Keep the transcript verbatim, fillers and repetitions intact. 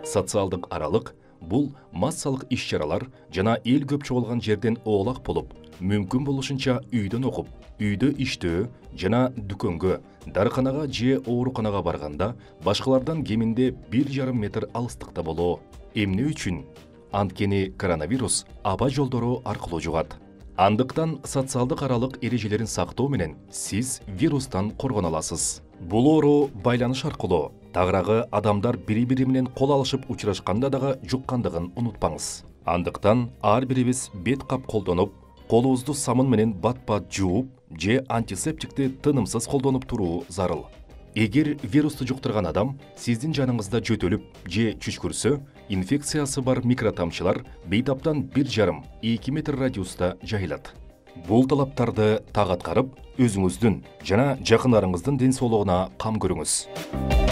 Социалдык аралык бул массалык иш-чаралар жана эл көп чогулган жерден оолак болуп, мүмкүн болушунча үйдөн окуп, үйдө иштөө жана дүкөнгө, дарыканага же ооруканага барганда башкалардан кеминде бир жарым метр алыстыкта болуу. Эмне үчүн? Анткени коронавирус аба жолдору аркылуу жугат. Андыктан социалдык аралык эрежелерин сактоо менен сиз вирустан коргоно аласыз. Бул оору байланыш аркылуу, тагыраагы адамдар бири-бири менен кол алышып учурашканда дагы жуккандыгын унутпаңыз. Андыктан ар бирибиз бет кап колдонуп, колубузду самын менен бат-бат жууп же антисептикти тынымсыз колдонуп туруу зарыл. Эгер вирусту жуктурган адам сиздин жаныңызда жөтөлүп же чүчкүрсө, инфекциясы бар микротамчылар бейтаптан бир жарым эки метр радиуста жайылат. Бул талаптарды так аткарып, өзүңүздүн жана жакындарыңыздын ден соолугуна кам көрүңүз.